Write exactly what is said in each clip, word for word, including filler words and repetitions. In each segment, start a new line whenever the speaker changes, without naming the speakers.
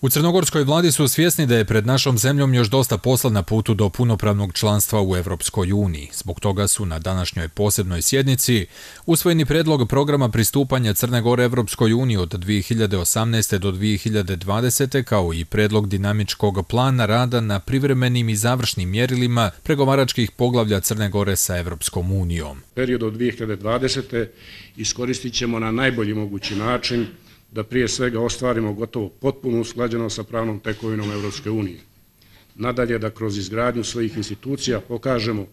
U crnogorskoj vladi su svjesni da je pred našom zemljom još dosta posla na putu do punopravnog članstva u Europskoj uniji. Zbog toga su na današnjoj posebnoj sjednici usvojeni predlog programa pristupanja Crne Gore Europskoj uniji od dvije hiljade osamnaeste. do dvije hiljade dvadesete. kao i predlog dinamičkog plana rada na privremenim i završnim mjerilima pregovaračkih poglavlja Crne Gore sa Europskom unijom.
Period od dvije hiljade dvadesete. iskoristit ćemo na najbolji mogući način da prije svega ostvarimo gotovo potpunu usklađenost sa pravnom tekovinom Europske unije. Nadalje, da kroz izgradnju svojih institucija pokažemo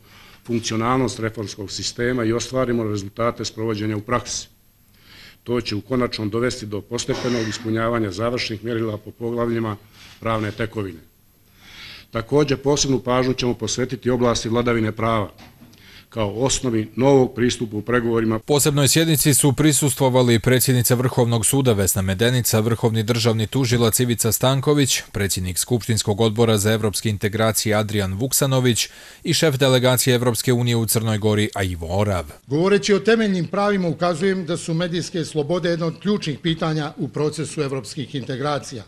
funkcionalnost reformskog sistema i ostvarimo rezultate sprovođenja u praksi. To će u konačnom dovesti do postepenog ispunjavanja završnih mjerila po poglavljima pravne tekovine. Također, posebnu pažnju ćemo posvetiti oblasti vladavine prava kao osnovi novog pristupa u pregovorima.
Posebnoj sjednici su prisustvovali predsjednica Vrhovnog suda Vesna Medenica, vrhovni državni tužilac Ivica Stanković, predsjednik Skupštinskog odbora za evropske integracije Adrian Vuksanović i šef delegacije Evropske unije u Crnoj Gori Ivo Orav.
Govoreći o temeljnim pravima ukazujem da su medijske slobode jedno od ključnih pitanja u procesu evropskih integracija.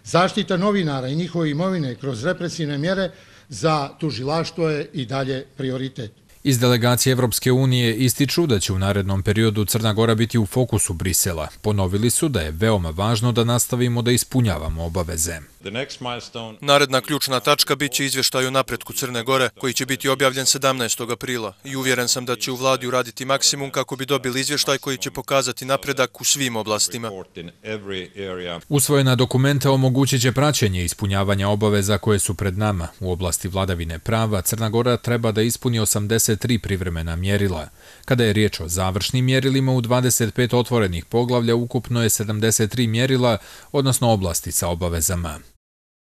Zaštita novinara i njihove imovine kroz represivne mjere za tužilaštvo je i dalje prioritet.
Iz delegacije Evropske unije ističu da će u narednom periodu Crna Gora biti u fokusu Brisela. Ponovili su da je veoma važno da nastavimo da ispunjavamo obaveze.
Naredna ključna tačka bit će izvještaj o napretku Crne Gore, koji će biti objavljen sedamnaestog aprila i uvjeren sam da će u vladi uraditi maksimum kako bi dobili izvještaj koji će pokazati napredak u svim oblastima.
Usvojena dokumenta omogućit će praćenje ispunjavanja obaveza koje su pred nama. U oblasti vladavine prava Crna Gora treba da ispuni osamdeset tri privremena mjerila. Kada je riječ o završnim mjerilima, u dvadeset pet otvorenih poglavlja ukupno je sedamdeset tri mjerila, odnosno oblasti sa obavezama.